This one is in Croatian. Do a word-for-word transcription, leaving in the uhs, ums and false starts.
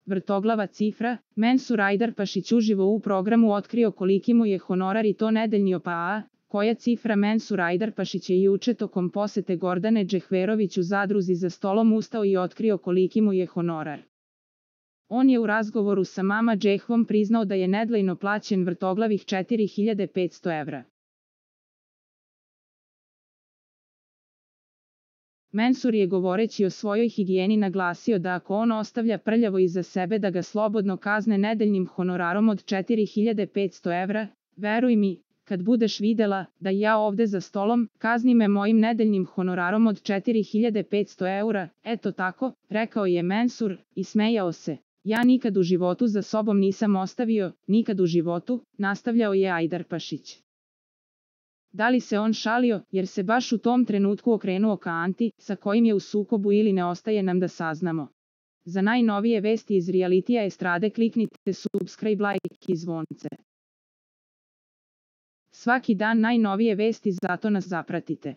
vrtoglava cifra, Mensur Ajdarpašić uživo u programu otkrio koliki mu je honorar i to nedeljni pa a, koja cifra. Mensur Ajdarpašić je juče tokom posete Gordane Džehverović u zadruzi za stolom ustao i otkrio koliki mu je honorar. On je u razgovoru sa Mama Džehvom priznao da je nedeljno plaćen vrtoglavih četiri hiljade petsto evra. Mensur je govoreći o svojoj higijeni naglasio da ako on ostavlja prljavo iza sebe da ga slobodno kazne nedeljnim honorarom od četiri hiljade petsto evra, veruj mi, kad budeš videla da ja ovde za stolom, kazni me mojim nedeljnim honorarom od četiri hiljade petsto eura, eto tako, rekao je Mensur i smejao se. Ja nikad u životu za sobom nisam ostavio, nikad u životu, nastavljao je Ajdarpašić. Da li se on šalio, jer se baš u tom trenutku okrenuo ka Anti, sa kojim je u sukobu ili ne, ostaje nam da saznamo. Za najnovije vesti iz realitija estrade kliknite subscribe, like i zvonce. Svaki dan najnovije vesti, zato nas zapratite.